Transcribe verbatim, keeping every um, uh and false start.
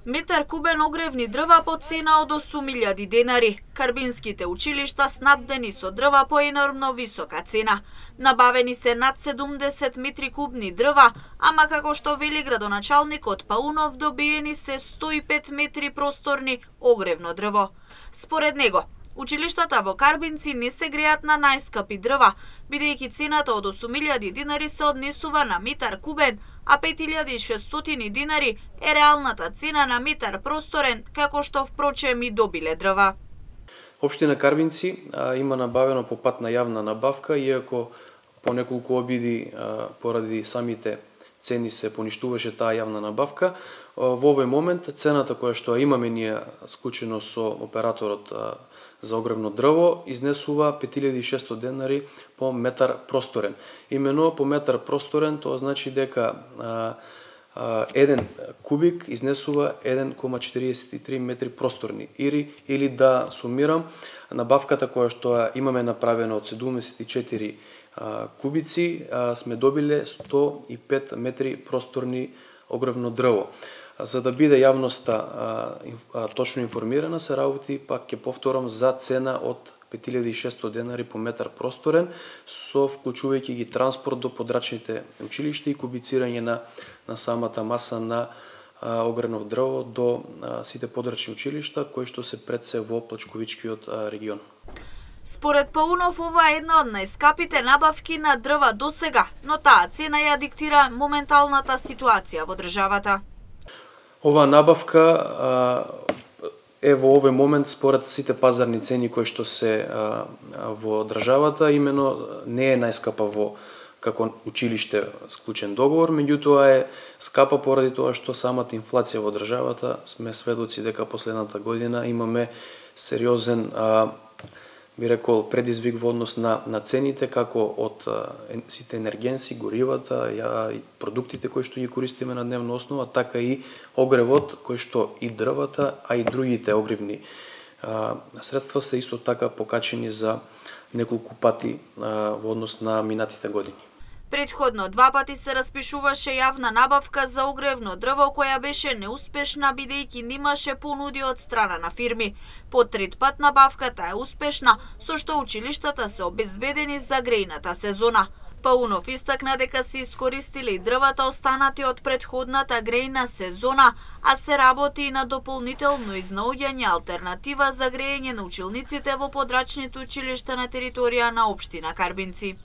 Метар кубен огревни дрва по цена од осум илјади денари. Карбинските училишта снабдени со дрва по енормно висока цена. Набавени се над седумдесет метри кубни дрва, ама како што вели градоначалникот Паунов, добиени се сто и пет метри просторни огревно дрво. Според него, училиштата во Карбинци не се греат на најскапи дрва, бидејќи цената од осум илјади динари се однесува на метар кубен, а пет илјади и шестстотини динари е реалната цена на метар просторен, како што впрочем и добиле дрва. Општина Карбинци а, има набавено по пат на јавна набавка, иако по неколку обиди а, поради самите цени се поништуваше таа јавна набавка. Во овој момент цената која што имаме ние склучено со операторот а, за огревно дрво изнесува пет илјади и шестстотини денари по метар просторен. Имено по метар просторен тоа значи дека а, а, еден кубик изнесува еден кома четиридесет и три метри просторни. Или, или да сумирам, набавката која што имаме направена од седумдесет и четири а, кубици, а, сме добиле сто и пет метри просторни огревно дрво. За да биде јавноста а, а, точно информирана, се работи, пак ќе повторам, за цена од пет илјади и шестстотини денари по метар просторен, со вклучувајќи ги транспорт до подрачните училишта и кубицирање на, на самата маса на а, огревно дрво до а, сите подрачни училишта, кои што се пред се во Плачковичкиот а, регион. Според Паунов, ова е една од најскапите набавки на дрва досега, но таа цена ја диктира моменталната ситуација во државата. Ова набавка а, е во овој момент според сите пазарни цени кои што се а, во државата, имено не е најскапа во како училиште склучен договор, меѓутоа е скапа поради тоа што самата инфлација во државата, сме сведоци дека последната година имаме сериозен а, би рекол предизвик во однос на, на цените, како од а, сите енергенси, горивата, ја, и продуктите кои што ги користиме на дневна основа, така и огревот, кој што и дрвата, а и другите огревни а, средства се исто така покачени за неколку пати а, во однос на минатите години. Предходно два пати се распишуваше јавна набавка за огревно дрво, која беше неуспешна бидејќи немаше понуди од страна на фирми. По трет пат набавката е успешна, со што училиштата се обезбедени за грејната сезона. Паунов истакна дека се искористиле и дрвата останати од предходната грејна сезона, а се работи и на дополнително изнаоѓање алтернатива за грејење на училниците во подрачните училишта на територија на општина Карбинци.